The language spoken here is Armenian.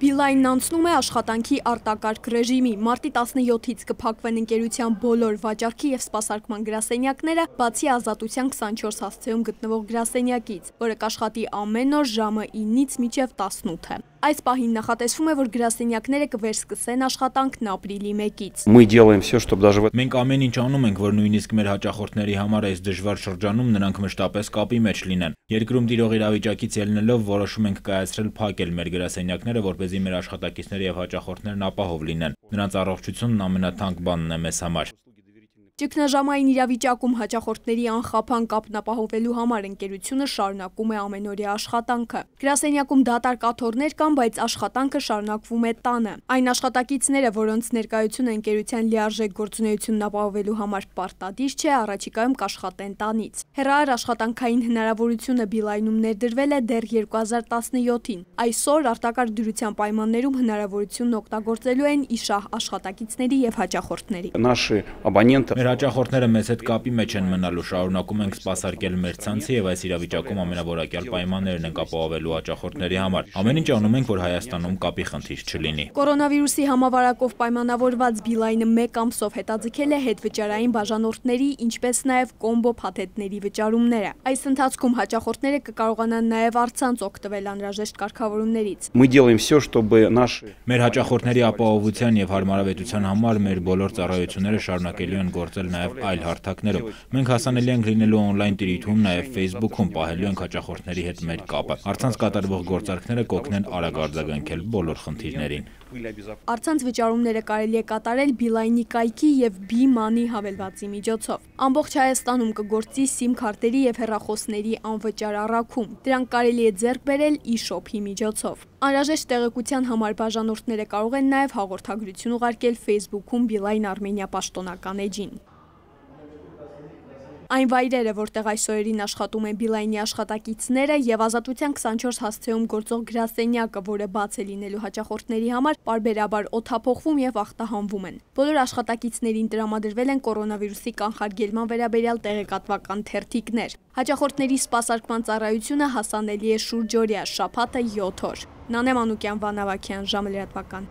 Բիլայնն անցնում է աշխատանքի արտակարգ ռեժիմի։ Մարտի 17-ից կփակվեն ընկերության բոլոր վաճառքի և սպասարկման գրասենյակները, բացի Ազատության 24 հասցեում գտնվող գրասենյակից, որը կաշխատի ամեն օր ժամը 9-ից մինչև 18։ Այս պահին նախատեսվում է, որ գրասենյակները կվերսկսեն աշխատանքն ապրիլի 1-ից։ Մենք ամեն ինչ անում ենք, որ նույնիսկ մեր հաճախորդների համար այս դժվար շրջանում նրանք մշտապես կապի մեջ լինեն։ Երկրում տիրող իրավիճակից ելնելով որոշում ենք կայացրել փակել մեր գրասենյակները, որպեսզի մեր աշխատակիցները և հաճախորդներն ապահով լինեն։ Նրանց առողջությունն ամենաթանկ բանն է մեզ համար։ Ճգնաժամային իրավիճակում հաճախորդների անխափան կապն ապահովելու համար ընկերությունը շարունակում է ամենօրյա աշխատանքը։ Գրասենյակում դատարկ աթոռներ կան, բայց աշխատանքը շարունակվում է տանը։ Այն աշխատակիցները, որոնց ներկայությունը ընկերության լիարժեք գործունեությունն ապահովելու համար պարտադիր չէ, առաջիկայում կաշխատեն տանից։ Հեռահար աշխատանքային հնարավորությունը Բիլայնում ներդրվել է դեռ 2017-ին։ Այսօր արտակարգ դյուրության պայմաններում հնարավորությունն օգտագործելու են իշահ աշխատակիցների և հաճախորդների։ Մեր հաճախորդները մեզ հետ կապի մեջ են մնալու, շարունակում ենք սպասարկել մեր ցանցը և այս իրավիճակում ամենավորակյալ պայմաններն ենք ապահովելու հաճախորդների համար։ Ամեն ինչ անում ենք, որ Հայաստանում կապի խնդիր չլինի։ Կորոնավիրուսի համավարակով պայմանավորված Բիլայնը 1 ամսով հետաձգել է հետվճարային բաժանորդների, ինչպես նաև կոմբո փաթեթների վճարումները։ Այս ընթացքում հաճախորդները կկարողանան նաև առցանց օգտվել անհրաժեշտ կարգավորումներից։ Մեր հաճախորդների ապահովության և հարմարավետության համար մեր բոլոր ծառայությունները շարունակելու են գործել նաև այլ հարթակներում։ Մենք հասանելի ենք լինելու օնլայն տիրույթում, նաև Facebook-ում, պահելու ենք հաճախորդների հետ մեր կապը։ Առցանց կատարվող գործարքները կօգնեն արագ արձագանքել բոլոր խնդիրներին։ Առցանց վճարումները կարելի է կատարել Բիլայնի կայքի և B-Money հավելվածի միջոցով։ Ամբողջ Հայաստանում կգործի SIM քարտերի և հեռախոսների անվճար առաքում։ Դրանք կարելի է ձեռք բերել e-shop-ի միջոցով։ Անհրաժեշտ տեղեկության համար բաժանորդները կարող են նաև հաղորդագրություն ուղարկել Facebook-ում Բիլայն Armenia պաշտոնական էջին։ Այն վայրերը, որտեղ այս օրերին աշխատում են Բիլայնի աշխատակիցները և Ազատության 24 հասցեում գործող գրասենյակը, որը բաց է լինելու հաճախորդների համար, պարբերաբար օդափոխվում և ախտահանվում են։ Բոլոր աշխատակիցներին տրամադրվել են կորոնավիրուսի կանխարգելման վերաբերյալ տեղեկատվական թերթիկներ։ Հաճախորդների սպասարկման ծառայությունը հասանելի է շուրջօրյա, շաբաթը 7 օր։ Նանե Մանուկյան, Վան Ավագյան, ժամը լրատվական։